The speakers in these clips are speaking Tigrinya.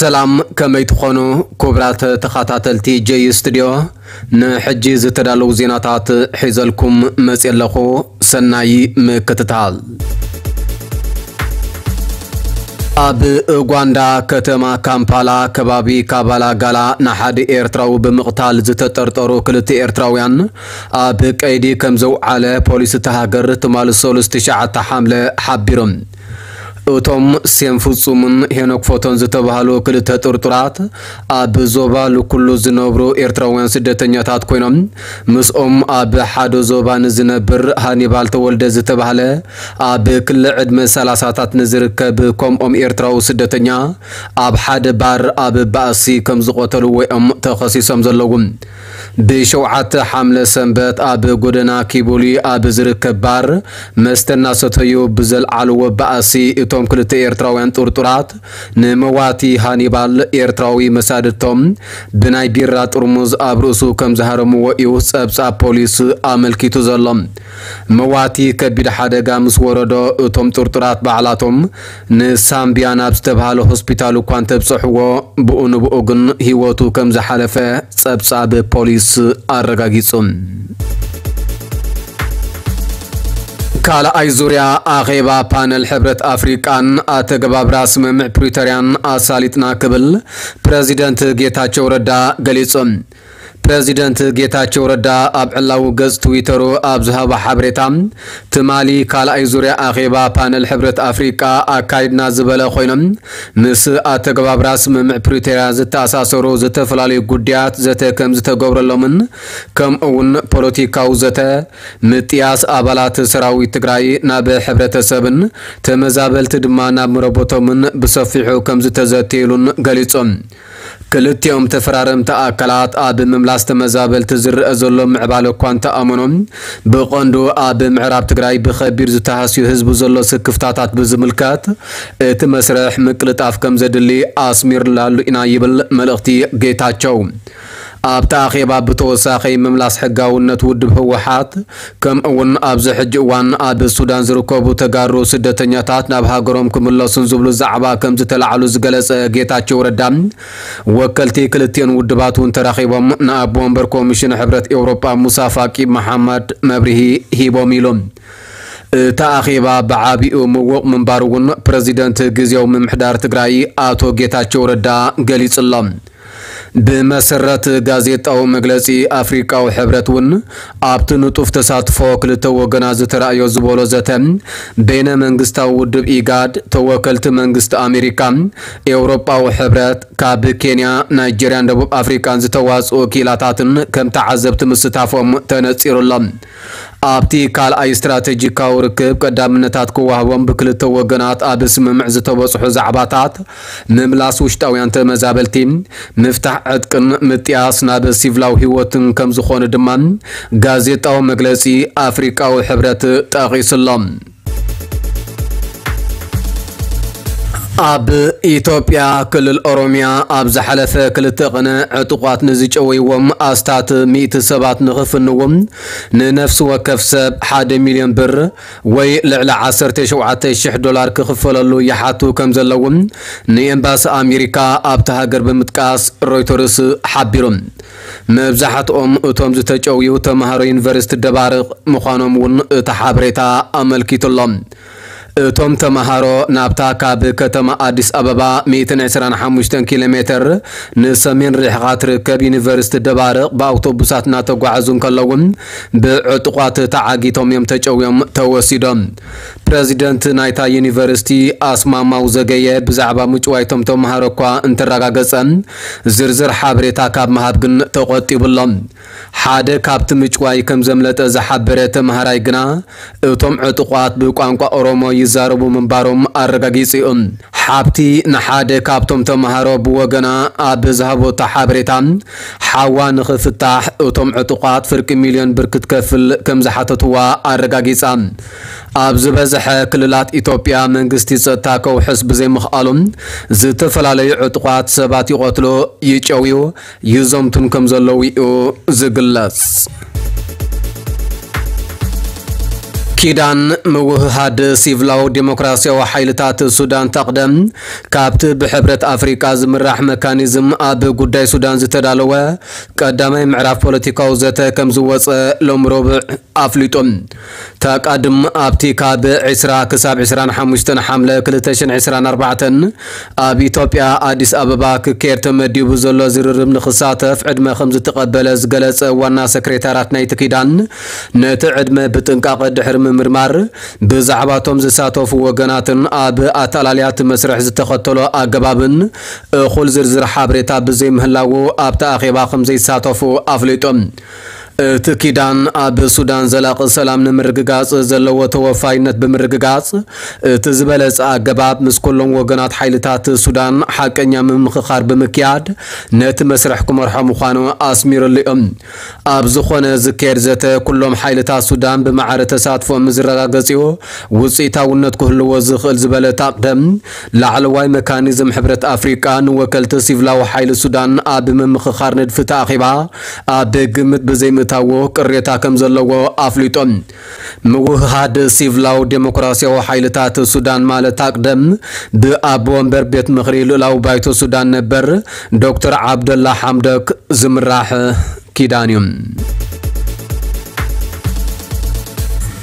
ሰላም፣ ከመይ ትኾኑ ክቡራት ተኸታተልቲ ጀይ ስቱድዮ? ንሕጂ ዝተዳለዉ ዜናታት ሒዘልኩም መፅየ ኣለኹ። ሰናይ ምክትታል። ኣብ ኡጋንዳ ከተማ ካምፓላ ከባቢ ካባላጋላ ንሓደ ኤርትራዊ ብምቕታል ዝተጠርጠሩ ክልተ ኤርትራውያን ኣብ ቀይዲ ከም ዘውዓለ ፖሊስ እታ ሃገር ትማሊ ሰሉስ ትሽዓተ ሓምለ ሓቢሩ። እቶም ሴም ፍጹምን ሄኖክ ፎቶን ዝተባህሉ ክልተ ጥርጡራት ኣብ ዞባ ልኩሉ ዝነብሩ ኤርትራውያን ስደተኛታት ኮይኖም፣ ምስኦም ኣብ ሓደ ዞባ ንዝነብር ሃኒባል ተወልደ ዝተባህለ ኣብ ክሊ ዕድመ ሰላሳታት ንዝርከብ ከምኦም ኤርትራዊ ስደተኛ ኣብ ሓደ ባር ኣብ ባእሲ ከም ዝቐተልዎ እዮም ተኸሲሶም ዘለዉ። ብሸውዓተ ሓምለ ሰንበት ኣብ ጎደና ኪቡሊ ኣብ ዝርከብ ባር መስተ እናሰተዩ ብዘልዓልዎ ባእሲ እቶም ክልተ ኤርትራውያን ጥርጡራት ንመዋቲ ሃኒባል ኤርትራዊ መሳድድቶም ብናይ ቢራ ጥርሙዝ ኣብ ርእሱ ከም ዝሃረምዎ እዩ ጸብጻብ ፖሊስ ኣመልኪቱ ዘሎ። መዋቲ ከቢድ ሓደጋ ምስ ወረዶ እቶም ጥርጡራት ባዕላቶም ንሳምቢያ ናብ ዝተባህለ ሆስፒታል እኳ እንተብጽሕዎ ብኡ ንብኡ ግን ህይወቱ ከም ዝሓለፈ ጸብጻብ ፖሊስ ኣረጋጊጹ። ካልኣይ ዙርያ ኣኼባ ፓነል ሕብረት ኣፍሪቃን ኣተገባብራ ስምምዕ ፕሪቶርያን ኣሳሊጥና ክብል ፕረዚደንት ጌታቸው ረዳ ገሊጹ። ፕረዚደንት ጌታቸው ረዳ ኣብ ዕላዊ ገጽ ትዊተሩ ኣብ ዝሃቦ ሓበሬታ፣ ትማሊ ካልኣይ ዙርያ ኣኼባ ፓነል ሕብረት ኣፍሪቃ ኣካይድና ዝበለ ኮይኖም፣ ምስ ኣተገባብራ ስምምዕ ፕሪቶርያ ዝተኣሳሰሩ ዝተፈላለዩ ጉዳያት ዘተ ከም ዝተገብረሎምን፣ ከምኡ እውን ፖለቲካዊ ዘተ፣ ምጥያስ ኣባላት ሰራዊት ትግራይ ናብ ሕብረተሰብን ተመዛበልቲ ድማ ናብ መረቦቶምን ብሰፊሑ ከም ዝተዘተየሉን ገሊጾም። ክልቲኦም ተፈራረምቲ ኣካላት ኣብ ምምላስ ተመዛበልቲ ዝረአ ዘሎ ምዕባለ እኳ እንተኣመኖም፣ ብቐንዱ ኣብ ምዕራብ ትግራይ ብኸቢድ ዝተሃስዩ ህዝቢ ዘሎ ስክፍታታት ብዝምልከት እቲ መስርሕ ምቅልጣፍ ከም ዘድሊ ኣስሚርላሉ ኢና ይብል መልእኽቲ ጌታቸው። ኣብቲ ኣኼባ ብተወሳኺ ምምላስ ሕጋውነት ውድብ ህወሓት፣ ከምኡ እውን ኣብዚ ሕጂ እዋን ኣብ ሱዳን ዝርከቡ ተጋሩ ስደተኛታት ናብ ሃገሮም ክምለሱን ዝብሉ ዛዕባ ከም ዝተላዕሉ ዝገለጸ ጌታቸው ረዳ፣ ወከልቲ ክልቲኦን ውድባት እውን ተራኺቦም ንኣቦ ወንበር ኮሚሽን ሕብረት ኤውሮጳ ሙሳ ፋቂ መሓመድ መብርሂ ሂቦም ኢሉ። እቲ ኣኼባ ብዓቢኡ ምዉቕ ምንባሩ እውን ፕረዚደንት ግዜያዊ ምምሕዳር ትግራይ ኣቶ ጌታቸው ረዳ ገሊጹ ኣሎ። ብመሰረት ጋዜጣዊ መግለጺ፣ ኣፍሪቃዊ ሕብረት እውን ኣብቲ ንጡፍ ተሳትፎ ክልተ ወገናት ዝተራእዮ ዝበሎ ዘተ፣ በይነ መንግስታዊ ውድብ ኢጋድ፣ ተወከልቲ መንግስቲ ኣሜሪካ፣ ኤውሮጳዊ ሕብረት፣ ካብ ኬንያ፣ ናይጄርያን ደቡብ ኣፍሪቃን ዝተዋጽኡ ወኪላታትን ከም ተዓዘብቲ ምስታፎም ተነጺሩ ኣሎ። ኣብቲ ካልኣይ ስትራቴጂካዊ ርክብ ቀዳምነታት ክወሃቦም ብክልተ ወገናት ኣብ ስምምዕ ዝተበጽሑ ዛዕባታት ምምላስ ውሽጣውያን ተመዛበልቲ፣ ምፍታሕ ዕጥቅን ምጥያስ ናብ ሲቪላዊ ህይወትን ከም ዝኾነ ድማ ጋዜጣዊ መግለጺ ኣፍሪቃዊ ሕብረት ጠቒሱ ኣሎ። ኣብ ኢትዮጵያ ክልል ኦሮሚያ ኣብ ዝሓለፈ ክልተ ቅነ ዕጡቋት ንዝጨወይዎም ኣስታት ሚእቲ ሰባት ንኽፍንዎም ንነፍሲ ወከፍ ሰብ ሓደ ሚልዮን ብር ወይ ልዕሊ ዓሰርተ ሸውዓተ ሽሕ ዶላር ክኽፈለሉ ይሓቱ ከም ዘለዉ ንኤምባሲ ኣሜሪካ ኣብቲ ሃገር ብምጥቃስ ሮይተርስ ሓቢሩ። መብዛሕትኦም እቶም ዝተጨውዩ ተምሃሮ ዩኒቨርሲቲ ደባርቕ ምዃኖም እውን እቲ ሓበሬታ ኣመልኪቱ ኣሎ። እቶም ተምሃሮ ናብታ ካብ ከተማ ኣዲስ ኣበባ ሚእትን ዕስራን ሓሙሽተን ኪሎ ሜትር ንሰሜን ርሒቓ ትርከብ ዩኒቨርሲቲ ደባርቕ ብኣውቶቡሳት እናተጓዓዙ እንከለዉ ብዕጡቋት ተዓጊቶም እዮም ተጨውዮም ተወሲዶም። ፕረዚደንት ናይታ ዩኒቨርሲቲ ኣስማማው ዘገየ ብዛዕባ ምጭዋይቶም ተምሃሮ እኳ እንተረጋገጸ ዝርዝር ሓበሬታ ካብ ምሃብ ግን ተቖጢቡ ኣሎ። ሓደ ካብቲ ምጭዋይ ከም ዘምለጠ ዝሓበረ ተምሃራይ ግና እቶም ዕጡቋት ብቋንቋ ኦሮሞ ይዛረቡ ምንባሮም ኣረጋጊጹ እዩ። ሓብቲ ንሓደ ካብቶም ተምሃሮ ብወገና ኣብ ዝሃበቶ ሓበሬታ፣ ሓዋ ንኽፍታሕ እቶም ዕጡቓት ፍርቂ ሚልዮን ብር ክትከፍል ከም ዝሓተትዋ ኣረጋጊጻ። ኣብ ዝበዝሐ ክልላት ኢትዮጵያ መንግስቲ ጸጥታ ከውሕስ ብዘይምኽኣሉ፣ ዝተፈላለዩ ዕጡቓት ሰባት ይቐትሉ፣ ይጨውዩ፣ ይዘምቱን ከም ዘለዉ እዩ ዝግለጽ። ኪዳን ምውህሃድ ሲቪላዊ ዴሞክራሲያዊ ሓይልታት ሱዳን፣ ታቕደም፣ ካብቲ ብሕብረት ኣፍሪቃ ዝምራሕ መካኒዝም ኣብ ጉዳይ ሱዳን ዝተዳለወ ቀዳማይ ምዕራፍ ፖለቲካዊ ዘተ ከም ዝወጸ ሎም ረቡዕ ኣፍሊጡ። ተቃድም ኣብቲ ካብ ዕስራ ክሳብ ዕስራን ሓሙሽተን ሓምለ ክልተ ሽሕን ዕስራን ኣርባዕተን ኣብ ኢትዮጵያ ኣዲስ ኣበባ ክካየድ ተመዲቡ ዘሎ ዝርርብ ንክሳተፍ ዕድመ ከም ዝተቐበለ ዝገለጸ ዋና ሰክሬታራት ናይቲ ኪዳን፣ ነቲ ዕድመ ብጥንቃቐ ድሕሪ ምምርማር፣ ብዛዕባቶም ዝሳተፉ ወገናትን ኣብ ኣተኣላልያ እቲ መስርሕ ዝተኸተሎ ኣገባብን እኹል ዝርዝር ሓበሬታ ብዘይምህላዉ ኣብቲ ኣኼባ ከም ዘይሳተፉ ኣፍሊጡ። እቲ ኪዳን ኣብ ሱዳን ዘላቒ ሰላም ንምርግጋጽ ዘለዎ ተወፋይነት ብምርግጋጽ፣ እቲ ዝበለጸ ኣገባብ ምስ ኩሎም ወገናት ሓይልታት ሱዳን ሓቀኛ ምምኽኻር ብምክያድ ነቲ መስርሕ ክመርሖ ምዃኑ ኣስሚሩሉ እዩ። ኣብ ዝኾነ ዝካየድ ዘተ ኩሎም ሓይልታት ሱዳን ብማዕረ ተሳትፎ ምስ ዝረጋገጽ እዩ ውጽኢታውነት ክህልዎ ዝኽእል ዝበለ ታቕደም፣ ላዕለዋይ መካኒዝም ሕብረት ኣፍሪቃ ንወከልቲ ሲቪላዊ ሓይሊ ሱዳን ኣብ ምምኽኻር ንድፊ ተኣኺባ ኣብ ግምት ብዘይምእታዎ ቅሬታ ከም ዘለዎ ኣፍሊጦም። ምውህሃድ ሲቪላዊ ዴሞክራሲያዊ ሓይልታት ሱዳን ማለት ታቕደም ብኣቦ ወንበር ቤት ምኽሪ ልኡላዊ ባይቶ ሱዳን ነበር ዶክተር ዓብደላ ሓምዶክ ዝምራሕ ኪዳን እዩ።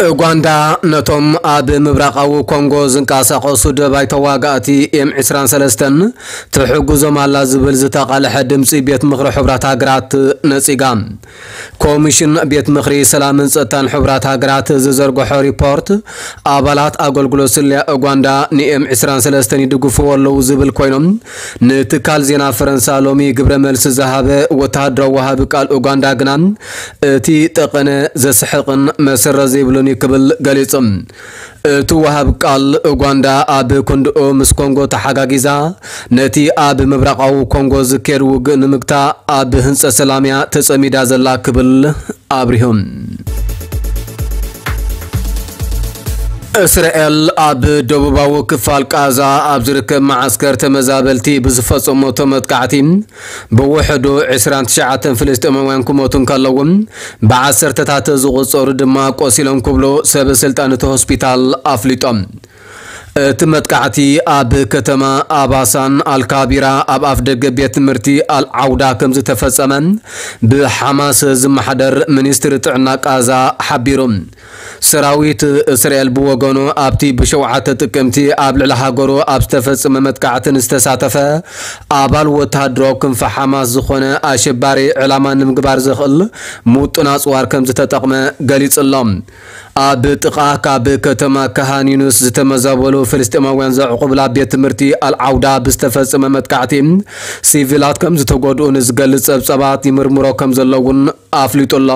ኡጋንዳ ነቶም ኣብ ምብራቓዊ ኮንጎ ዝንቀሳቐሱ ደባይ ተዋጋእቲ ኤም ዕስራን ሰለስተን ትሕግዞም ኣላ ዝብል ዝተቓልሐ ድምፂ ቤት ምኽሪ ሕቡራት ሃገራት ነፂጋ። ኮሚሽን ቤት ምኽሪ ሰላምን ጸጥታን ሕቡራት ሃገራት ዝዘርግሖ ሪፖርት፣ ኣባላት ኣገልግሎት ስለያ ኡጋንዳ ንኤም ዕስራን ሰለስተን ይድግፍዎ ኣለዉ ዝብል ኮይኖም፣ ንትካል ዜና ፈረንሳ ሎሚ ግብረ መልሲ ዝሃበ ወተሃደራዊ ወሃቢ ቃል ኡጋንዳ ግና፣ እቲ ጠቐነ ዘስሕቕን መሰረት ዘይብሉን እዩ ክብል ገሊጹ። እቲ ወሃብ ቃል ኡጋንዳ ኣብ ክንድኡ ምስ ኮንጎ ተሓጋጊዛ ነቲ ኣብ ምብራቓዊ ኮንጎ ዝካየድ ውግእ ንምግታእ ኣብ ህንጸት ሰላም እያ ተጸሚዳ ዘላ ክብል ኣብሪሁ። እስራኤል ኣብ ደቡባዊ ክፋል ቃዛ ኣብ ዝርከብ መዓስከር ተመዛበልቲ ብዝፈጸመቶ መጥቃዕቲ ብውሕዱ ዕስራን ትሽዓተን ፍልስጤማውያን ክሞቱ እንከለዉ፣ ብዓሰርተታት ዝቑጸሩ ድማ ቆሲሎም ክብሉ ሰብ ስልጣን እቲ ሆስፒታል ኣፍሊጦም። እቲ መጥቃዕቲ ኣብ ከተማ ኣባሳን ኣልካቢራ ኣብ ኣፍ ደገ ቤት ትምህርቲ ኣልዓውዳ ከም ዝተፈጸመ ብሓማስ ዝመሓደር ሚኒስትሪ ጥዕና ቃዛ ሓቢሩ። ሰራዊት እስራኤል ብወገኑ ኣብቲ ብሸውዓተ ጥቅምቲ ኣብ ልዕሊ ሃገሩ ኣብ ዝተፈጸመ መጥቃዕቲ ንዝተሳተፈ ኣባል ወተሃደራዊ ክንፊ ሓማስ ዝኾነ ኣሸባሪ ዕላማ ንምግባር ዘኽእል ምውጡን ኣጽዋር ከም ዝተጠቕመ ገሊጹ ኣሎ። ኣብ ጥቓ ካብ ከተማ ካሃን ዩኑስ ዝተመዛበሉ ፍልስጤማውያን ዘዕቑብላ ቤት ትምህርቲ ኣልዓውዳ ብዝተፈጸመ መጥቃዕቲ ሲቪላት ከም ዝተጎድኡ ንዝገልጽ ጸብጻባት ይምርምሮ ከም ዘሎ እውን ኣፍሊጡ ኣሎ።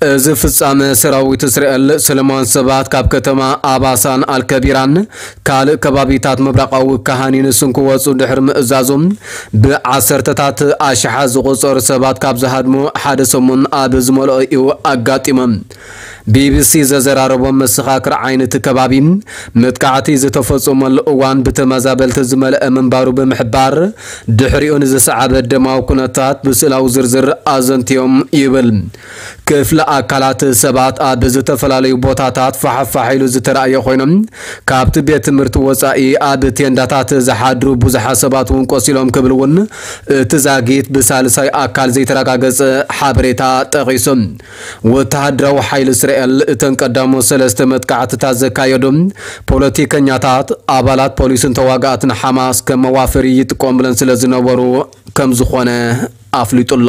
እዚ ፍጻመ ሰራዊት እስራኤል ሰለማውያን ሰባት ካብ ከተማ ኣባሳን ኣልከቢራን ካልእ ከባቢታት ምብራቓዊ ካሃን ዩኒስን ክወጹ ድሕሪ ምእዛዙ፣ ብዓሰርተታት ኣሽሓት ዝቑጸሩ ሰባት ካብ ዝሃድሙ ሓደ ሰሙን ኣብ ዝመልኦ እዩ ኣጋጢሞም። ቢቢሲ ዘዘራረቦም መሰኻክር ዓይኒ እቲ ከባቢ፣ መጥቃዕቲ ዝተፈጸመሉ እዋን ብተመዛበልቲ ዝመልአ ምንባሩ ብምሕባር፣ ድሕሪኡ ንዝሰዓበ ደማዊ ኩነታት ብስእላዊ ዝርዝር ኣዘንትዮም ይብል። ክፍለ ኣካላት ሰባት ኣብ ዝተፈላለዩ ቦታታት ፋሕፋሕ ኢሉ ዝተራእየ ኮይኖም፣ ካብቲ ቤት ትምህርቲ ወጻኢ ኣብ ቴንዳታት ዝሓድሩ ብዙሓት ሰባት እውን ቆሲሎም ክብል እውን እቲ ዛጊት ብሳልሳይ ኣካል ዘይተረጋገጸ ሓበሬታ ጠቒሱ። ወተሃደራዊ ሓይሊ እስራኤል እተን ቀዳሞት ሰለስተ መጥቃዕትታት ዘካየዱ ፖለቲከኛታት፣ ኣባላት ፖሊስን ተዋጋእትን ሓማስ ከም መዋፈሪ ይጥቀሙለን ስለ ዝነበሩ ከም ዝኾነ ኣፍሊጡ ኣሎ።